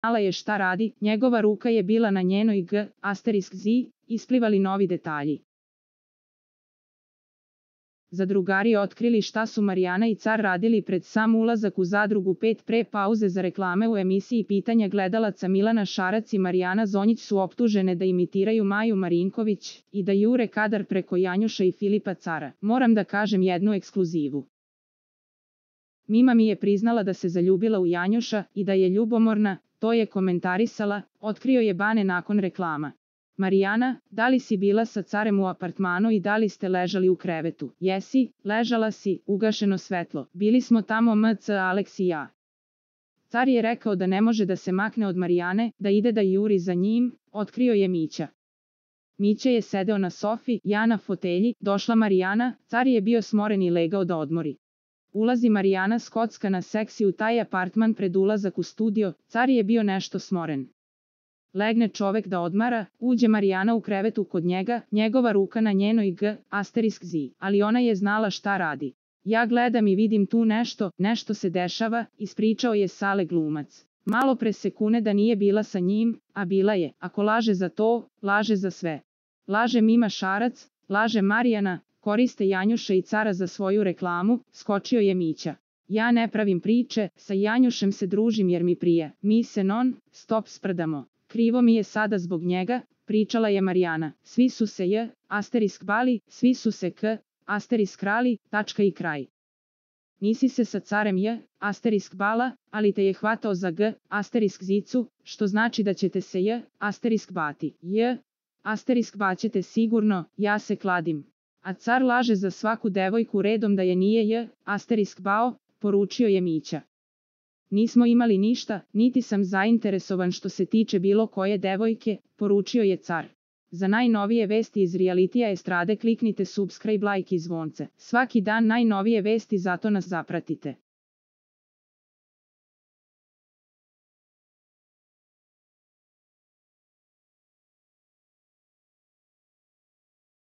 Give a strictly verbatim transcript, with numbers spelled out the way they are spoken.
znala je šta radi, njegova ruka je bila na njenoj G, asterisk Z, isplivali novi detalji. Zadrugari otkrili šta su Marijana i Car radili pred sam ulazak u zadrugu pet pre pauze za reklame u emisiji Pitanja gledalaca. Milana Šarac i Marijana Zonjić su optužene da imitiraju Maju Marinković i da jure kadar preko Janjuša i Filipa Cara. Moram da kažem jednu ekskluzivu. Mima mi je priznala da se zaljubila u Janjuša i da je ljubomorna, to je komentarisala, otkrio je Bane nakon reklama. Marijana, da li si bila sa Carem u apartmanu i da li ste ležali u krevetu? Jesi, ležala si, ugašeno svetlo. Bili smo tamo M C Alex i ja. Car je rekao da ne može da se makne od Marijane, da ide da juri za njim, otkrio je Mića. Mića je sedeo na sofi, ja na fotelji, došla Marijana, Car je bio smoren i legao da odmori. Ulazi Marijana skocka na seksi u taj apartman pred ulazak u studio, Car je bio nešto smoren. Legne čovek da odmara, uđe Marijana u krevetu kod njega, njegova ruka na njenoj G, asterisk Z, ali ona je znala šta radi. Ja gledam i vidim tu nešto, nešto se dešava, ispričao je Sale glumac. Malo pre se kune da nije bila sa njim, a bila je, ako laže za to, laže za sve. Laže Mima Šarac, laže Marijana, koriste Janjuša i Cara za svoju reklamu, skočio je Mića. Ja ne pravim priče, sa Janjušem se družim jer mi prije, mi se non, stop sprdamo. Krivo mi je sada zbog njega, pričala je Marijana. Svi su se J, asterisk bali, svi su se K, asterisk krali, tačka i kraj. Nisi se sa Carem J, asterisk bala, ali te je hvatao za G, asterisk zicu, što znači da ćete se J, asterisk bati. J, asterisk baćete sigurno, ja se kladim. A Car laže za svaku devojku redom da je nije J, asterisk bao, poručio je Mića. Nismo imali ništa, niti sam zainteresovan što se tiče bilo koje devojke, poručio je Car. Za najnovije vesti iz realitija estrade kliknite subscribe, like i zvonce. Svaki dan najnovije vesti, zato nas zapratite.